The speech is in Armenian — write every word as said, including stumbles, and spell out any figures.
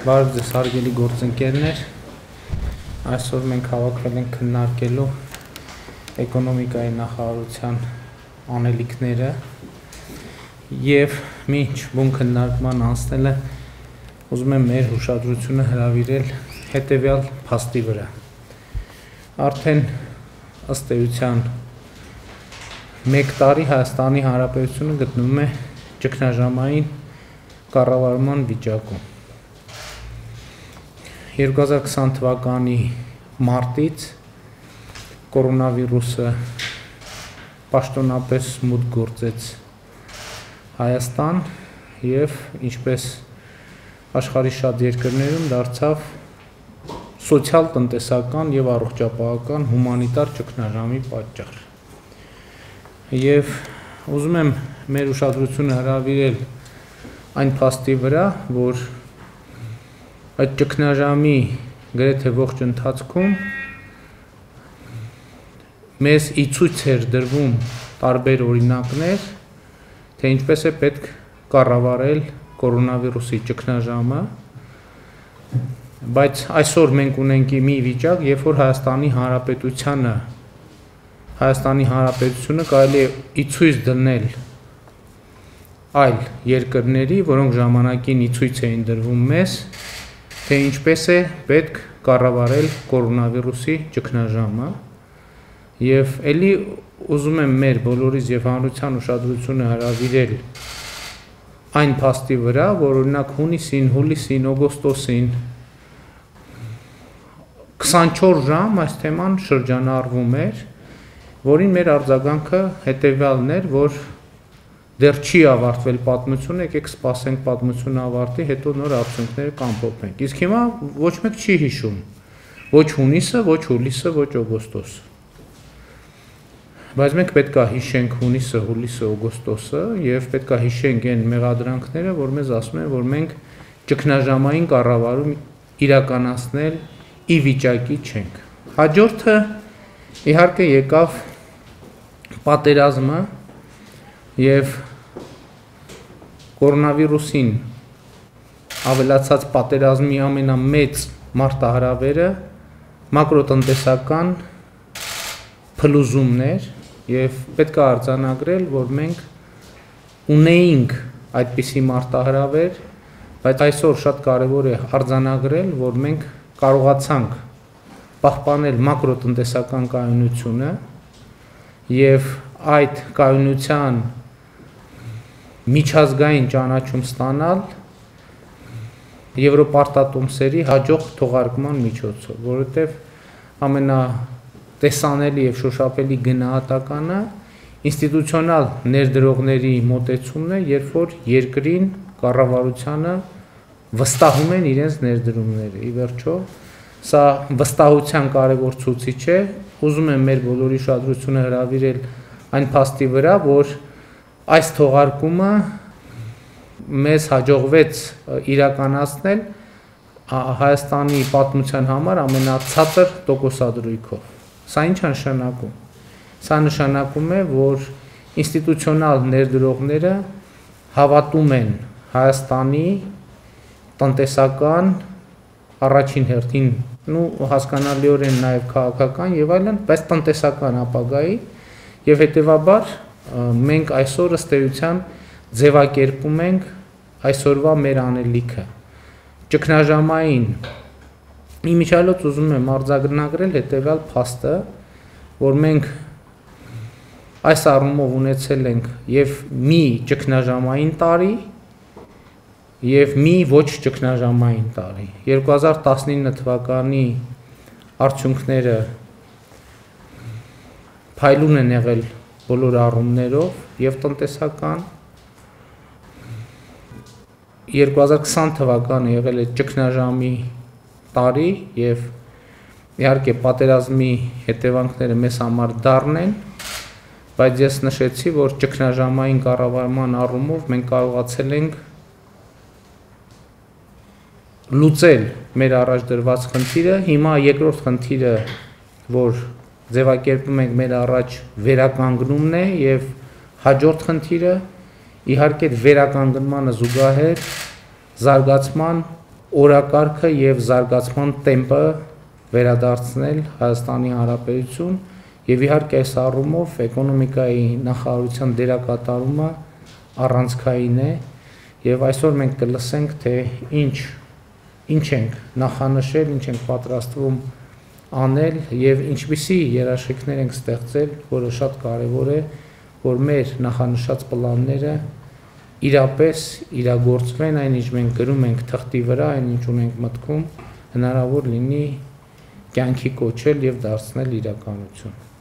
Բարև ձեզ հարգելի գործընկերներ, այսօր մենք հավաքվել ենք քննարկելու էկոնոմիկայի նախարարության անելիքները եւ մինչ բուն քննարկման անցնելը ուզում եմ մեր հուշադրությունը հրավիրել հետեւյալ փաստի վրա։ Արդեն ըստ էության մեկ տարի Հայաստանի Հանրապետությունը գտնվում է ճգնաժամային կառավարման վիճակում։ երկու հազար քսան թվականի մարտից կորոնավիրուսը պաշտոնապես մուտք գործեց Հայաստան եւ ինչպես աշխարհի շատ երկրներում դարձավ սոցիալ-տնտեսական եւ առողջապահական հումանիտար ճգնաժամի պատճառ։ Եվ ուզում եմ մեր ուշադրությունը հրավիրել այն փաստի վրա, որ այդ ճգնաժամի գրեթե ողջ ընթացքում մեզ ի ցույց էր դրվում տարբեր օրինակներ, թե ինչպես է պետք կառավարել կորոնավիրուսի ճգնաժամը, բայց այսօր մենք ունենք մի վիճակ, երբ որ Հայաստանի Հանրապետությանը Հայաստանի Հանրապետությունը կարելի է ի ցույց դնել այլ երկրների, որոնք ժամանակին ի ցույց էին դրվում մեզ, թե ինչպես է պետք կառավարել կորոնավիրուսի ճգնաժամը, եւ ելի ուզում եմ մեր բոլորիս եւ հանրության ուշադրությունը հրավիրել այն փաստի վրա, որ օրինակ հունիսին, հուլիսին, օգոստոսին քսանչորս ժամ այս թեման շրջանառվում էր, որին մեր արձագանքը հետևյալն էր, որ դեռ չի ավարտվել պատմությունը, եկեք սպասենք պատմությունը ավարտի, հետո նոր արդյունքները կամփոփենք։ Իսկ հիմա ոչ մեկ չի հիշում ոչ հունիսը, ոչ հուլիսը, ոչ օգոստոսը։ Բայց մենք պետք է հիշենք հունիսը, հուլիսը, օգոստոսը եւ պետք է հիշենք այն մեղադրանքները, որ մեզ ասում են, որ մենք ճգնաժամային կառավարում իրականացնել ի վիճակի չենք։ Հաջորդը իհարկե եկավ պատերազմը եւ կորոնավիրուսին ավելացած պատերազմի ամենամեծ մարտահրավերը մակրոտնտեսական փլուզումն էր եւ պետք է արձանագրել, որ մենք ունեինք այդպիսի մարտահրավեր, բայց այսօր շատ կարեւոր է արձանագրել, որ մենք կարողացանք պահպանել մակրոտնտեսական կայունությունը եւ այդ կայունության միջազգային ճանաչում ստանալ եվրոպարտատոմսերի հաջող թողարկման միջոցով, որովհետեւ ամենատեսանելի եւ շոշափելի գնահատականը ինստիտուցիոնալ ներդրողների մոտեցումն է, երբ որ երկրին կառավարությանը վստահում են իրենց ներդրումները։ Ի վերջո սա վստահության կարևոր ցուցիչ է, ուզում եմ մեր բոլորի ուշադրությունը հրավիրել այն փաստի վրա, որ այս թողարկումը մեզ հաջողվեց իրականացնել Հայաստանի պատմության համար ամենացածր տոկոսադրույքով։ Սա ինչ է նշանակում։ Սա նշանակում է, որ ինստիտուցիոնալ ներդրողները հավատում են Հայաստանի տնտեսական առաջին հերթին ու հասկանալիորեն նաև քաղաքական եւ այլն, բայց տնտեսական ապագայի եւ հետեւաբար մենք այսօր ըստ էության ձևակերպում ենք այսօրվա մեր անելիքը ճգնաժամային իմիջիալոց ուզում եմ արձանագրել հետեւյալ փաստը, որ մենք այս առումով ունեցել ենք եւ մի ճգնաժամային տարի եւ մի ոչ ճգնաժամային տարի։ երկու հազար տասնինը թվականի արդյունքները փայլուն են եղել բոլոր առումներով եւ տնտեսական երկու հազար քսան թվականը եղել է ճգնաժամի տարի եւ իհարկե պատերազմի հետևանքները մեզ համար դառն են, բայց ես նշեցի, որ ճգնաժամային կառավարման առումով մենք կարողացել ենք լուծել մեր առաջ դրված խնդիրը, հիմա երկրորդ խնդիրը, որ ձևակերպում ենք մեր առաջ վերականգնումն է եւ Հաջորդ խնդիրը իհարկե վերականգնմանը զուգահեռ զարգացման օրակարգը եւ զարգացման տեմպը վերադարձնել Հայաստանի Հանրապետություն եւ իհարկե այս առումով էկոնոմիկայի նախարարության դերակատարումը առանցքային է եւ այսօր մենք կլսենք թե ինչ ինչ ենք նախանշել, ինչ ենք պատրաստվում անել եւ ինչպիսի երաշխիքներ ենք ստեղծել, որը շատ կարեւոր է, որ մեր նախանշած պլանները իրապես իրագործվեն, այնինչ մենք գրում ենք թղթի վրա, այնինչ ունենք մտքում, հնարավոր լինի կյանքի կոչել եւ դարձնել իրականություն։